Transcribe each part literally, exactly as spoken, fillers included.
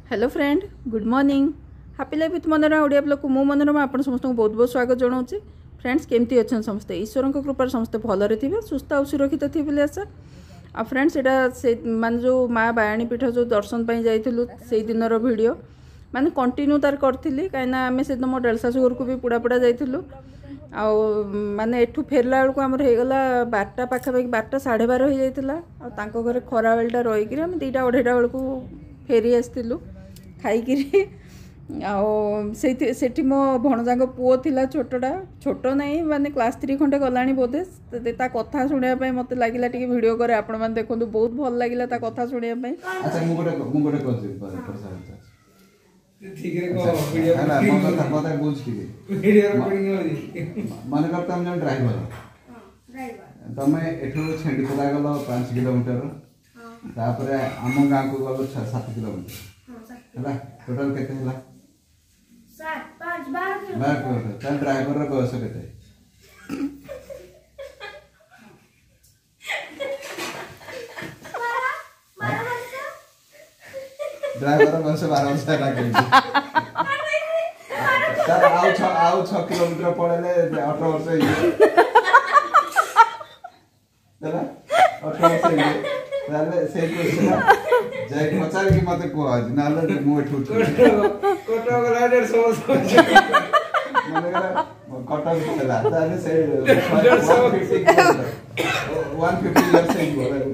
Hello friend, good morning. Happy Life with Manorama Odia ବ୍ଲଗ୍କୁ ମୁଁ ମନୋରମା ଆପଣ ସମସ୍ତଙ୍କୁ ବହୁତ ବହୁତ ସ୍ୱାଗତ ଜଣାଉଛି। ଫ୍ରେଣ୍ଡସ୍, କେମିତି ଅଛନ୍ତି ସମସ୍ତେ? ଈଶ୍ୱରଙ୍କ କୃପାରେ ସମସ୍ତେ ଭଲରେ ଥିବେ, ସୁସ୍ଥ ଆଉ ସୁରକ୍ଷିତ ଥିବେ ବୋଲି ଆଶା। ଆଉ ଫ୍ରେଣ୍ଡସ୍, ଏଇଟା ସେ ମାନେ ଯେଉଁ ମା ବାୟାଣୀ ପୀଠ ଯେଉଁ ଦର୍ଶନ ପାଇଁ ଯାଇଥିଲୁ, ସେଇ ଦିନର ଭିଡ଼ିଓ ମାନେ କଣ୍ଟିନ୍ୟୁ ତାର କରିଥିଲି, କାହିଁକିନା ଆମେ ସେଦିନ ମୋ ଦେଢ଼ଶାଶୁ ଘରକୁ ବି ପୋଡ଼ାପୋଡ଼ା ଯାଇଥିଲୁ। ଆଉ ମାନେ ଏଠୁ ଫେରିଲା ବେଳକୁ ଆମର ହେଇଗଲା ବାରଟା ପାଖାପାଖି, ବାରଟା ସାଢ଼େ ବାର ହେଇଯାଇଥିଲା। ଆଉ ତାଙ୍କ ଘରେ ଖରାବେଳଟା ରହିକିରି ଆମେ ଦୁଇଟା ଅଢ଼େଇଟା ବେଳକୁ ଫେରି ଆସିଥିଲୁ ଖାଇକିରି। ଆଉ ସେଇଥି ସେଠି ମୋ ଭଣଜାଙ୍କ ପୁଅ ଥିଲା, ଛୋଟଟା, ଛୋଟ ନାହିଁ ମାନେ କ୍ଲାସ୍ ଥ୍ରୀ ଖଣ୍ଡେ ଗଲାଣି ବୋଧେ। ତା କଥା ଶୁଣିବା ପାଇଁ ମୋତେ ଲାଗିଲା ଟିକେ ଭିଡ଼ିଓ କରେ, ଆପଣମାନେ ଦେଖନ୍ତୁ। ବହୁତ ଭଲ ଲାଗିଲା ତା କଥା ଶୁଣିବା ପାଇଁ। ଆଚ୍ଛା, ମୁଁ ଗୋଟେ ମୁଁ ଗୋଟେ କହୁଛି, ଠିକରେ କହ। ହେଲା, ମୋ କଥା କଥା ବୁଝ ଟିକେ। ଭିଡ଼ିଓ ରେକର୍ଡିଂ ହଉଛି। ମନେକର ତମେ ଜଣେ ଡ୍ରାଇଭର, ତମେ ଏଠୁ ଛେଣ୍ଡିପଦା ଗଲ ପାଞ୍ଚ କିଲୋମିଟର, ତାପରେ ଆମ ଗାଁକୁ ଗଲ ଛଅ ସାତ କିଲୋମିଟର, ହେଲା, ଟୋଟାଲ କେତେ ହେଲା? ବାର କିଲୋମିଟର। ତାହେଲେ ଡ୍ରାଇଭରର ବୟସ କେତେ? ଡ୍ରାଇଭର ବୟସ ବାର ବର୍ଷ ହେଲା କେମିତି? ତାର ଆଉ ଛଅ ଆଉ ଛଅ କିଲୋମିଟର ପଳେଇଲେ ଅଠର ବର୍ଷ ହେଇଯିବ। ହେଲା, ଅଠର ବର୍ଷ ହେଇଯିବ। ତାହେଲେ ସେଇ କ୍ୱେଶ୍ଚନ ଯାଇକି ପଚାରିକି ମତେ କୁହ ଆଜି, ନହେଲେ ମୁଁ ଏଠୁ କଟକ ଗଲା ଦେଢ଼ଶହ ବର୍ଷ। ମନେକର କଟକ ହେଲା, ତାହେଲେ ସେ ୱାନ୍ ଫିଫ୍ଟି ଇୟର୍ସ ହେଇଯିବ ତାକୁ।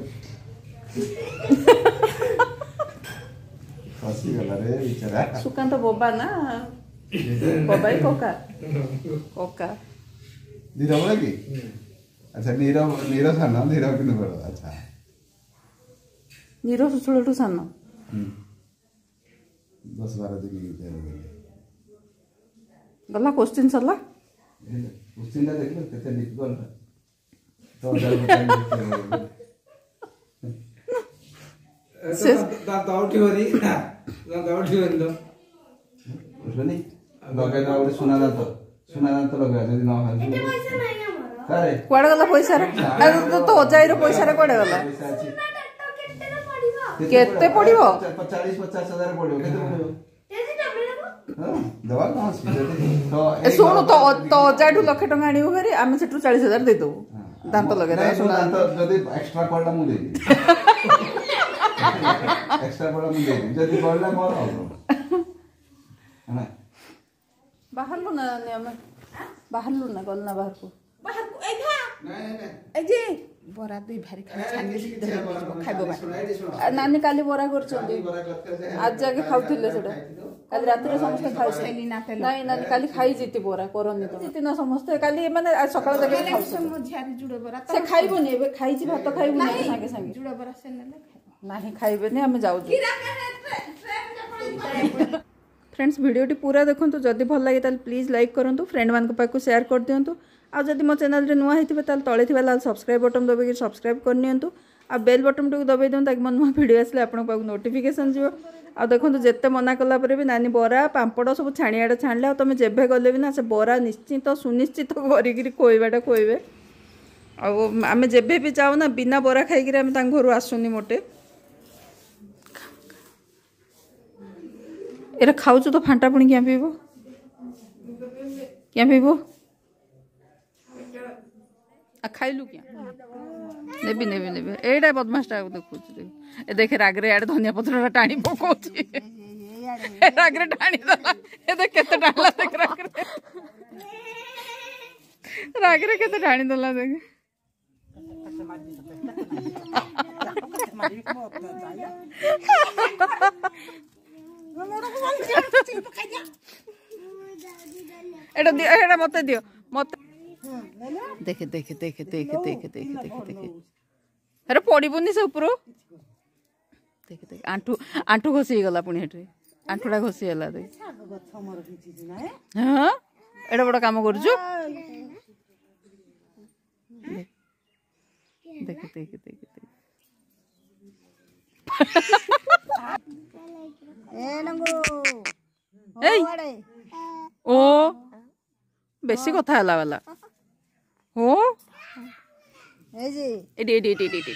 ଫସିଗଲା ରେ ବିଚାରା। ସୁକାନ୍ତ ବୋବା ନା ବବାଇ, କକା କକା। ନୀରବ କି? ଆଚ୍ଛା, ନୀରବ, ନୀର ସାନ, ନୀରବ କିନ୍ତୁ ବଡ଼। ଆଚ୍ଛା, ନୀର ସୁଶୀଳଠୁ ସାନ ଦଶ ବାର ଦିନ। ଗଲା, କୋଶ୍ଚିନ୍ ସରିଲା। କୋଶ୍ଚିନ୍ଟା ଦେଖିଲ କେତେ ଡିଫିକଲ୍ଟ? ଦାନ୍ତ ଉଠିବନି, ଦାନ୍ତ ଉଠିବନି ତ। ଉଠିବନି, ଲଗେଇଦବା ଗୋଟେ ସୁନା ଦାନ୍ତ, ସୁନା ଦାନ୍ତ ଲଗେଇବା ଯଦି ନ ଆରେ କୁଆଡ଼େ ଗଲା ପଇସାରେ? ତୋ ଅଜାଇର ପଇସାରେ କୁଆଡ଼େ ଗଲା? ପଇସା ଅଛି। କେତେ ପଡ଼ିବ? ଚାଳିଶ ପଚାଶ ହଜାର ପଡ଼ିବ। କେତେ ପଡ଼ିବ? ହଁ, ଦେବା କଣ ଅଛି ଯଦି ତ ଏ ଶୁଣୁ, ତୋ ତୋ ଅଜାଠୁ ଲକ୍ଷେ ଟଙ୍କା ଆଣିବୁ ଭାରି, ଆମେ ସେଠୁ ଚାଳିଶ ହଜାର ଦେଇଦେବୁ, ଦାନ୍ତ ଲଗେଇଦେବା ସୁନା ଦାନ୍ତ। ଯଦି ଏକ୍ସଟ୍ରା ପଡ଼ିଲା ମୁଁ ଦେଇଦେବି, ଏକ୍ସଟ୍ରା ପଡ଼ିଲା ମୁଁ ଦେଇଦେବି, ଯଦି ବଳିଲା ମୋର ହବ ହେଲା। ବାହାରିଲୁ ନା ନାନୀ? ଆମେ ବାହାରିଲୁ ନା, ଗଲୁ ନା ବାହାରକୁ? ବାହାରକୁ ଏଇଠା ଏଇ ଯେ ବରା ଦୁଇ ଭାରି ଖାଲି ଛାଣିକି ଖାଇବ। ନାନୀ କାଲି ବରା କରିଛନ୍ତି, ଆଜି ଯାକେ ଖାଉଥିଲେ ସେଟା। କାଲି ରାତିରେ ସମସ୍ତେ ଖାଇଛନ୍ତି। ନାଇଁ ନାନୀ, କାଲି ଖାଇଛି ବରା କରନି ତ ଜିତି ନା ସମସ୍ତେ କାଲି, ମାନେ ସକାଳ ଯାକେ ଖାଉଛନ୍ତି। ମୋ ଝିଆରୀ ଜୁଡ଼ ବରା ସେ ଖାଇବନି ଏବେ, ଖାଇଛି ଭାତ, ଖାଇବୁନି ଏବେ ସାଙ୍ଗେ ସାଙ୍ଗେ। ଜୁଡ଼ ବରା ସେ ନେଲେ ଖାଇବ। ନାହିଁ, ଖାଇବେନି, ଆମେ ଯାଉଛୁ। ଫ୍ରେଣ୍ଡସ୍, ଭିଡ଼ିଓଟି ପୁରା ଦେଖନ୍ତୁ। ଯଦି ଭଲ ଲାଗେ ତାହେଲେ ପ୍ଲିଜ୍ ଲାଇକ୍ କରନ୍ତୁ, ଫ୍ରେଣ୍ଡମାନଙ୍କ ପାଖକୁ ସେୟାର କରିଦିଅନ୍ତୁ। ଆଉ ଯଦି ମୋ ଚ୍ୟାନେଲରେ ନୂଆ ହେଇଥିବେ, ତାହେଲେ ତଳେ ଥିବା ଲାଲ ସବସ୍କ୍ରାଇବ୍ ବଟନ୍ ଦବାଇକି ସବସ୍କ୍ରାଇବ୍ କରିନିଅନ୍ତୁ ଆଉ ବେଲ୍ ବଟନ୍ଟିକୁ ଦବାଇ ଦିଅନ୍ତୁ, ତାକି ମୋ ନୂଆ ଭିଡ଼ିଓ ଆସିଲେ ଆପଣଙ୍କ ପାଖକୁ ନୋଟିଫିକେସନ୍ ଯିବ। ଆଉ ଦେଖନ୍ତୁ, ଯେତେ ମନା କଲା ପରେ ବି ନାନୀ ବରା ପାମ୍ପଡ଼ ସବୁ ଛାଣିଆଡ଼େ ଛାଣିଲେ। ଆଉ ତୁମେ ଯେବେ ଗଲେ ବି ନା ସେ ବରା ନିଶ୍ଚିତ ସୁନିଶ୍ଚିତ କରିକିରି ଖୋଇବାଟା ଖୋଇବେ। ଆଉ ଆମେ ଯେବେ ବି ଯାଉ ନା, ବିନା ବରା ଖାଇକିରି ଆମେ ତାଙ୍କ ଘରୁ ଆସୁନି ମୋଟେ। ଏଟା ଖାଉଛୁ ତ ଫାଣ୍ଟା ପୁଣି କିଆଁ ପିଇବ? କିଆଁ ପିଇବ? ଆଉ ଖାଇଲୁ କିଆଁ? ନେବି ନେବି ନେବି। ଏଇଟା ବଦମାସଟା ଦେଖୁଛୁ, ଦେଖ, ଏ ଦେଖେ, ରାଗରେ ଆଡ଼େ ଧନିଆ ପତ୍ରଟା ଟାଣି ପକଉଛି। ରାଗରେ ଟାଣିଦେଲା। ଏ ଦେଖ କେତେ ଟାଣିଲା, ଦେଖ, ରାଗରେ ରାଗରେ କେତେ ଟାଣିଦେଲା ଦେଖ। ଏଇଟା ଦିଅ, ଏଇଟା ମତେ ଦିଅ, ମତେ। ଦେଖେ ଦେଖେ ଦେଖେ ଦେଖେ ଦେଖେ ଦେଖେ ଦେଖେ ଦେଖେ, ଆରେ ପଡ଼ିବୁନି ସେ ଉପରୁ। ଦେଖେ ଦେଖେ, ଆଣ୍ଠୁ ଆଣ୍ଠୁ ଘଷି ହେଇଗଲା ପୁଣି ହେଠି, ଆଣ୍ଠୁଟା ଘଷି ହେଲା ଦେଖ। ହଁ, ଏଇଟା ବଡ଼ କାମ କରୁଛୁ। ଦେଖେ ଦେଖେ ଦେଖେ ଦେଖେ। ଏଇ ଓ ବେଶୀ କଥା ହେଲା ବାଲା ହୋ। ଏଇଠି ଏଇଠି ଏଇଠି ଏଇଠି ଏଇଠି।